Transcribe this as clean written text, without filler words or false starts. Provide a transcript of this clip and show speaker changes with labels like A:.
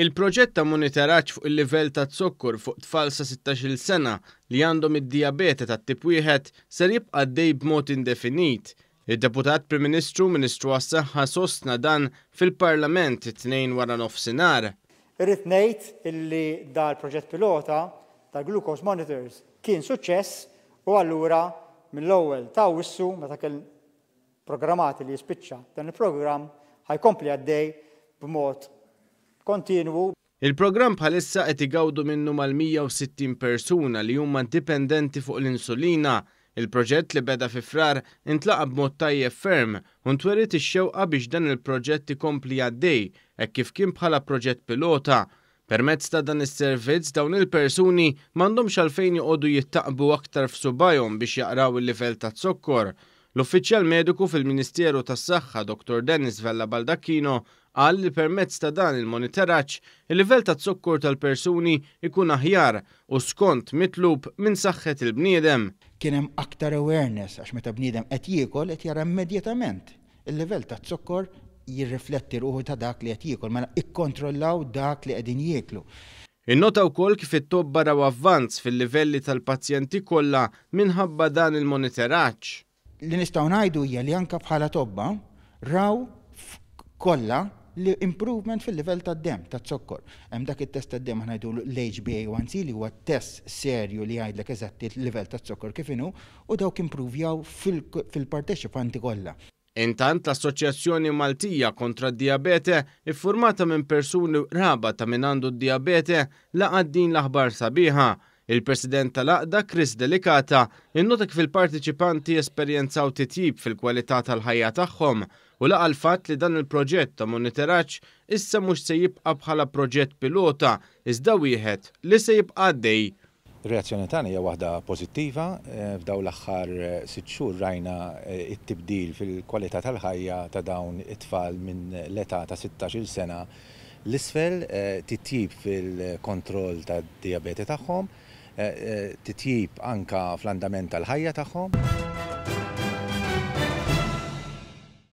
A: Il-proġett ta' monitoraġġ fuq il-livell ta' zokkor fuq tfal sa 16-il sena li għandhom id-dijabete tat-tip 1 ser jibqa' għaddej b'mod indefinit. Id-Deputat Prim Ministru, Ministru għas-Saħħa sostna dan fil-Parlament it-Tnejn wara nofsinhar.
B: Irrid ngħid illi dal-proġett pilota tal-glucose monitors kien suċċess u allura mill-ewwel ta' Awwissu, meta kien programmati li jispiċċa dan il-programm, ħa jkompli għaddej b'mod kontinwu.
A: Il-programm bħalissa qed igawdu minnu mal-160 persuna li huma dipendenti fuq l-insulina. Il-proġett li beda fi Frar intlaqa' b'mod tajjeb ferm u ntweriet ix-xewqa biex dan il-proġett ikompli għaddej hekk kif kien bħala proġett pilota. Permezz ta' dan is-servizz dawn il-persuni m'għandhomx għalfejn joqogħdu jittaqbu aktar f'subgħajhom biex jaqraw il-livell taz-zokkor. L-uffiċjal mediku fil-Ministeru tas-Saħħa Dottor Dennis Vella Baldacchino qal li permezz ta' dan il-monitoraġġ, il-livell taz-zokkor tal-persuni jkun aħjar u skont mitlub minn saħħet il-bniedem.
C: Kien hemm aktar awareness għax meta bniedem qed jiekol qed jara immedjatament il-livell taz-zokkor jirrifletti ruħu ta' dak li qed jiekol, mela ikkontrollaw dak li qegħdin jieklu.
A: Innota wkoll kif it-tobba raw avvanz fil-livelli tal-pazjenti kollha minħabba dan il-monitoraġġ.
C: Li nistgħu ngħidu hija li anke bħala tobba raw kollha li improvement fil-livell tad-demm, taz-zokkor. Hemm dak it-test tad-demm aħna ngħidulu l-HbA1c li huwa test serju li jgħidlek eżatt il-livell taz-zokkor kif inhu u dawk impruvjaw fil-parteċipanti kollha.
A: Intant l-Assoċjazzjoni Maltija kontra d-Dijabete, iffurmata minn persuni u qraba ta' min għandu d-dijabete, laqgħet din l-aħbar sabiħa. Il-President tal-għaqda Chris Delicata innota kif il-parteċipanti esperjenzaw titjib fil-kwalità tal-ħajja tagħhom u laqa' l-fatt li dan il-proġett ta' monitoraġġ issa mhux se jibqa' bħala proġett pilota iżda wieħed li se jibqa' għaddej.
D: Ir-reazzjoni tagħna hija waħda pożittiva. F'dawn l-aħħar sitt xhur rajna t-tibdil fil-kwalità tal-ħajja ta' dawn it-tfal minn l-età ta' 16-il sena 'l isfel, titjib fil-kontroll tad-dijabete tagħhom, titjib anke fl-andament tal-ħajja tagħhom.